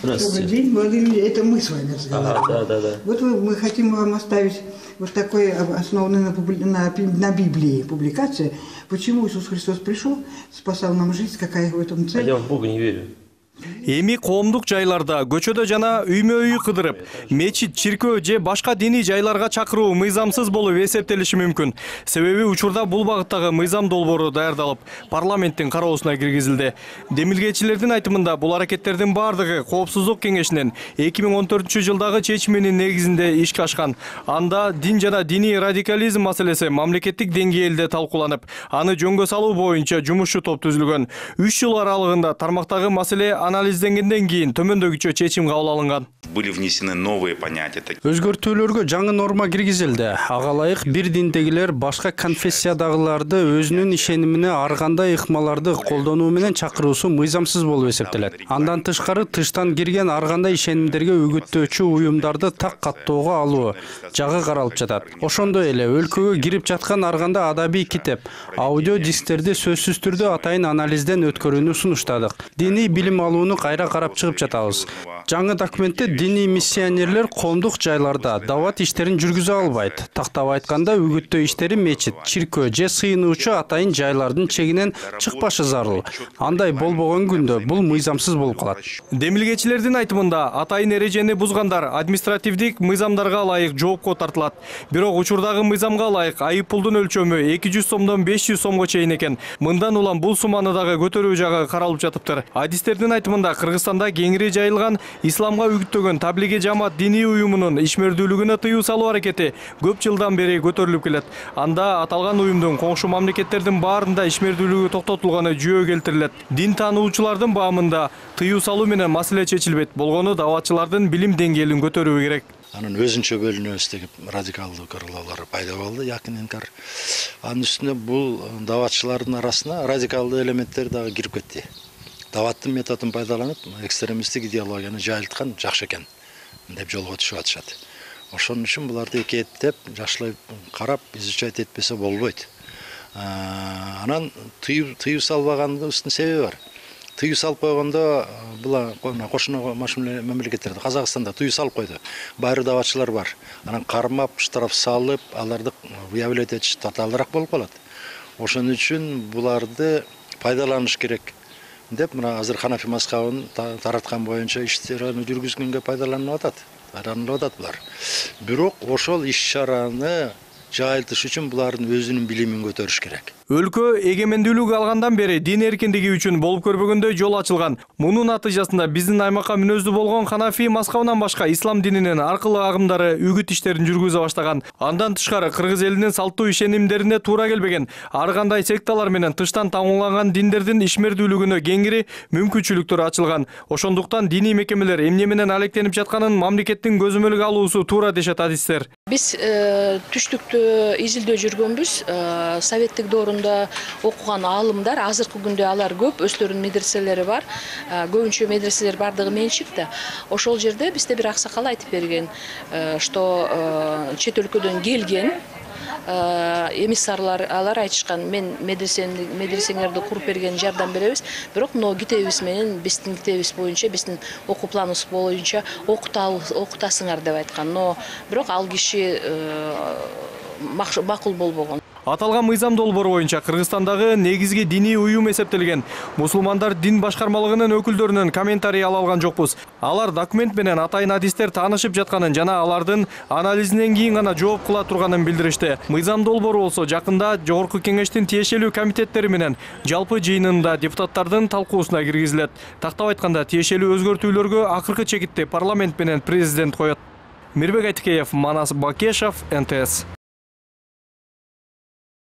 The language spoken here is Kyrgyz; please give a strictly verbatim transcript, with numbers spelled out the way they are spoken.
Здравствуйте. Добрый день, молодые люди. Это мы с вами разговариваем. Ага, да, да, да. Вот мы, мы хотим вам оставить вот такой основанный на, публи... на, на Библии публикация. Почему Иисус Христос пришел, спасал нам жизнь, какая в этом цель. А я в Бога не верю. Эми коомдук жайларда, көчөдө жана үймө-үй кыдырып, мечит, чиркөө же башка диний жайларга чакыруу мыйзамсыз болуп эсептелиши мүмкүн. Себеби учурда бул багыттагы мыйзам долбоору даярдалып, парламенттин кароосуна киргизилди. Демилгечилердин айтымында бул аракеттердин бардыгы Коопсуздук кеңешинин эки миң он төртүнчү жылдагы чечиминин негизинде ишке ашкан. Анда дин жана диний радикализм маселеси мамлекеттик деңгээлде талкууланып, аны жөнгө салуу боюнча жумушчу топ түзүлгөн. үч жыл аралыгында тармактагы маселе анализденгенден кийин төмөндөгүчө чечим кабыл алынган. Были внесены новые понятия. Өзгөртүүлөргө жаңы норма киргизилди. Ага ылайык бир диндегилер башка конфессиядагыларды өзүнүн ишенимине ар кандай ыкмаларды колдонуу менен чакыруусу мыйзамсыз болуп эсептелет. Андан тышкары тыштан кирген ар кандай ишенимдерге үгүттөөчү уюмдарды так каттоого алуу жагы каралып жатат. Ошондой эле өлкөгө кирип жаткан ар кандай адабий китеп, аудио дисктерди сөзсүз түрдө атайын анализден өткөрүүнү сунуштадык. Диний билим алууну кайра карап чыгып жатабыз. Жаңы документте диний миссионерлер коомдук жайларда дават иштерин жүргүзө албайт. Тактап айтканда үгүттөө иштери мечит, чиркөө же сыйынуучу атайын жайлардын чегинен чыкпашы зарыл. Андай болбогон күндө бул мыйзамсыз болуп калат. Демилгечилердин айтымында атайын эрежени бузгандар административдик мыйзамдарга ылайык жоопко тартылат. Бирок учурдагы мыйзамга ылайык айып пулдун өлчөмү эки жүз сомдон беш жүз сомго чейин экен. Мындан улам бул сумманы дагы көтөрүү жагы каралып жатыптыр. Адистердин айтымында Кыргызстанда кеңири жайылган исламга үгүттөгөн таблиги жамаат диний уюмунун ишмердүүлүгүнө тыюу салуу аракети көп жылдан бери көтөрүлүп келет. Анда аталган уюмдун коңшу мамлекеттердин баарында ишмердүүлүгү токтотулганы жүйө келтирилет. Дин таануучулардын баамында тыюу салуу менен маселе чечилбейт. Болгону даватчылардын билим деңгээлин көтөрүү керек. Анын өзүнчө бөлүнөбүз деген радикалдуу кырлоолор пайда болду, якын инкар. Анын үстүнө бул даватчылардын арасына радикалдуу элементтер дагы кирип кетти. Даваттын методун пайдаланып, экстремисттик идеологияны жайылткан жакшы экен деп жолго түшүп атышат. Ошон үчүн буларды экиеттеп, жакшылап карап, изучать этпесе болбойт. Анан тыюу салбагандын себеби бар. Тыюу салып койгондо була кошуна мамлекеттерде, Казакстанда тыюу салып койду. Баары даватчылар бар. Анан кармап, штраф салып, аларды выявлять этиш татаалыраак болуп калат. Ошон үчүн буларды пайдаланыш керек деп мына азыр Ханафи мазхабын тараткан боюнча иш-чараны жүргүзгөнгө пайдаланылып атат. Пайдаланылып атат булар. Бирок ошол иш-чараны жайылтыш үчүн булардын өзүнүн билимин көтөрүш керек. Өлкө эгемендүүлүк алгандан бери дин эркиндиги үчүн болуп көрбөгөндөй жол ачылган. Мунун натыйжасында биздин аймакка мүнөздүү болгон Ханафи мазхабынан башка ислам дининин ар кыл агымдары үгүт иштерин жүргүзө баштаган. Андан тышкары кыргыз элинин салттуу ишенимдерине туура келбеген ар кандай секталар менен тыштан таңууланган диндердин ишмердүүлүгүнө кеңири мүмкүнчүлүктөр ачылган. Ошондуктан диний мекемелер эмне менен алектенип жатканын мамлекеттин көзөмөлгө алуусу туура дешет адистер. Биз түштүктө изилдөө жүргөнбүз. Советтик доорунда окуган аалымдар азыркы күндө алар көп, өздөрүнүн медреселери бар. Көбүнчө медреселер бардыгы менчикте. Ошол жерде бизде бир аксакал айтып берген, что чет өлкөдөн келген эмиссарлар алар айтышкан, мен медресеңерди куруп берген жардам беребиз, бирок мына китебибиз менен биздин китебибиз боюнча, биздин окуу планыбыз боюнча окутасыңар деп айткан. Но бирок ал киши макул болбогон. Аталган мыйзам долбоору боюнча Кыргызстандагы негизги диний уюм эсептелген мусулмандар дин башкармалыгынын өкүлдөрүнүн комментарий ала алган жокпуз. Алар документ менен атайын адистер таанышып жатканын жана алардын анализинен кийин гана жооп кыла турганын билдиришти. Мыйзам долбоору болсо жакында жогорку кеңештин тиешелүү комитеттери менен жалпы жыйынында депутаттардын талкуусуна киргизилет. Тактап айтканда тиешелүү өзгөртүүлөргө акыркы чекитти парламент менен президент коет. Мирбек Айтикеев, Манас Бакешов, эн тэ эс.